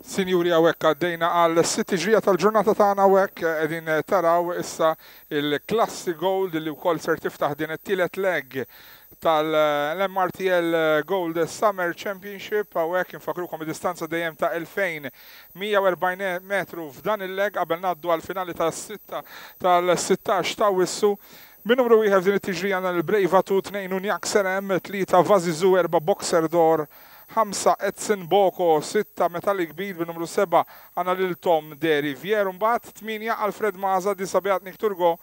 Sinjuri, hawnhekk għaddejna għal sitt tiġrija tal-ġurnata tagħna. Hawnhekk qegħdin taraw issa il-Klassi Gold li wkoll ser tiftaħ din it-tielet leg tal-MRTL Gold Summer Championship. Hawnhekk infakrukom id-distanza dejjem ta' 2140 metru f'dan il-leg qabel ngħaddu għall-finali tas-sitta tal-16 ta' Awwissu. Min numru wieħed f'din it-tiġrija għandna lil Brave Atu, 2 Unjak Serem, 3 Vazizu, 4 Boxer Dor, 5 Edson Boko, 6 Metallic Beat, bin-numru 7 għandna lil Tom De Riviere, mbagħad 8 Alfred Maza, 9 Beatnik Turgo,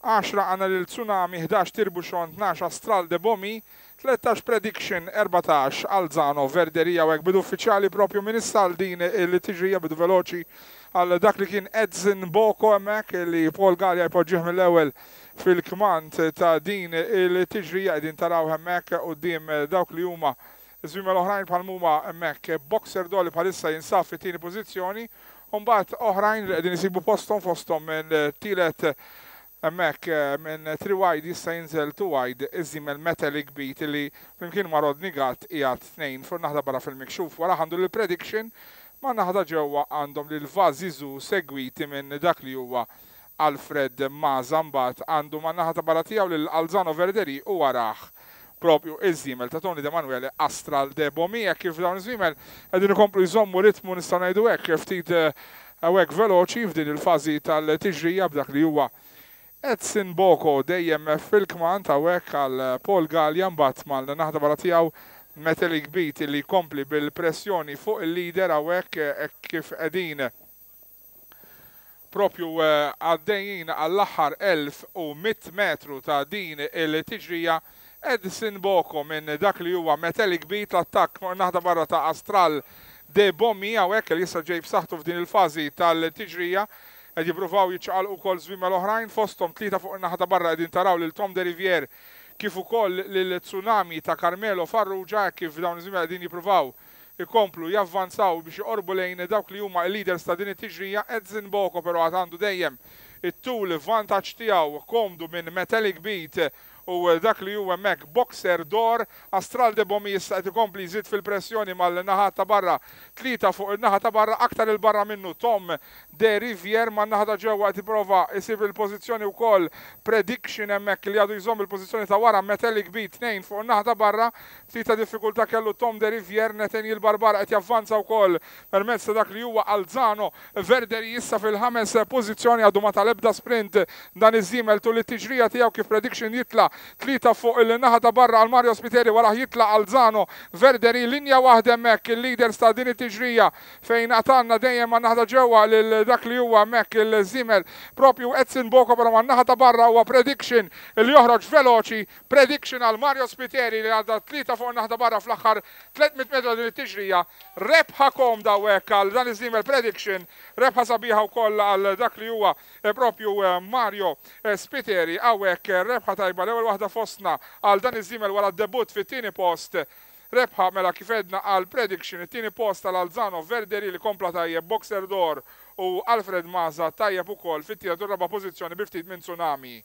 10 għandna lil Tsunami, 11 Tirbuxon, 12 Astral De Bomi, 13 Prediction, 14 Alzano Verderia. U hekk bidu uffiċjali propju minn issa għal din il-tiġrija, bidu veloċi għal dak li kien Edson Boko hemmhekk li Paul Galea jpoġġih mill-ewwel fil-kmand ta' din il-tiġrija. Qegħdin taraw hemmhekk quddiem dawk li huma żwiemel oħrajn bħal huma hemmhekk Boxer Dolly bħalissa jinsab fit-tieni pożizzjoni u mbagħad oħrajn li qegħdin isibu posthom, fosthom minn tielet hemmhekk minn 3 wide jista' jinżel 2 wide iż-żiemel Metallic Beat li flimkien ma' Rodney Gatt qiegħed tnejn fuq naħda barra fil-mikxuf. Wara għandu lil Prediction, ma' naħda ġewwa għandhom lil Vazizu segwiti minn dak li huwa Alfred Maza, mbagħad għandu man-naħa ta' barra tiegħu lil Alzano Verderi u warah propju iż-żiemel ta' Tony De Manuele Astral de Bomi. Hekk kif dawn iż-żwiemel qegħdin ikomplu jżommu ritmu, nistgħu ngħidu hekk, ftit hawnhekk veloċi f'din il-fażi tal-tiġrija, b'dak li huwa Edson Boko dejjem fil-kmand hawnhekk għal Paul Galea, mbagħad mal-naħa barra tiegħu Metallic Beat li jkompli bil-pressjoni fuq il-leader hawnhekk hekk kif qegħdin propju għaddejjin għall-aħħar 1100 metru ta' din il-tiġrija. Edson Boko minn dak li huwa Metallic Beat, l-attakk naħda barra ta' Astral De Bomi hawnhekk li issa ġej b'saħħtu f'din il-fażi tal-tiġrija. Qed jippruvaw jiċċaqalqu wkoll żwiemel oħrajn, fosthom tlieta fuq in-naħa ta' barra qegħdin taraw lil Tom De Riviere kif ukoll lil Tsunami ta' Carmelo Farrugia, hekk kif dawn iż-żwiemel qegħdin jippruvaw ikomplu javvanzaw biex joqorbu lejn dawk li huma l-leaders ta' din it-tiġrija. Edson Boko però għad għandu dejjem it-tul vantaġġ tiegħu komdu minn Metallic Beat u dak li hu hemmhekk Boxer Dor. Astral De Bomi issa qed ikompli jżid fil-pressjoni mal-naħat ta' barra, tlieta fuq in-naħa ta' barra, aktar 'il barra minnu Tom De Riviere, man-naħa ta' ġewwa qed jipprova jsib il-pożizzjoni wkoll Prediction hemmhekk li għadu jżomm il-pożizzjoni ta' wara Metallic Beat, tnejn fuq in-naħa ta' barra. Ftit ta' diffikultà kellu Tom De Riviere, Nathaniel Barbara qed javvanza wkoll permezz ta' dak li huwa Alzano Verderi issa fil-ħames pożizzjoni. Għadu ma ta l-ebda sprint dan iż-żiemel tul it-tiġrija tiegħu kif Prediction jitla' tlieta fuq il-naħa ta' barra għal Mario Spiteri, warah jitla' Alzano Verderi, linja waħda hemmhekk il-leaders ta' din it-tiġrija fejn għad għandna dejjem man-naħa ta' ġewwa lil dak li huwa hemmhekk il-żiemel propju Edson Boko, però man-naħa ta' barra huwa Prediction li joħroġ veloċi. Prediction għal Mario Spiteri li għadda tlieta fuq in-naħa ta' barra fl-aħħar 300 metru din it-tiġrija. Rebħa komda hawnhekk għal dan iż-żiemel Prediction, rebħa sabiħa wkoll għal dak li huwa propju Mario Spiteri hawnhekk, rebħa tajba, l-ewwel waħda fostna għal dan iż-żiemel wara d-debutt fit-tieni post. Rebħa mela kif għedna għal Prediction, it-tieni post għal Alzano Verderi li kompla tajjeb, Boxer Dor u Alfred Maza tajjeb ukoll fit-tielet u r-raba' pożizzjoni bi ftit minn Tsunami.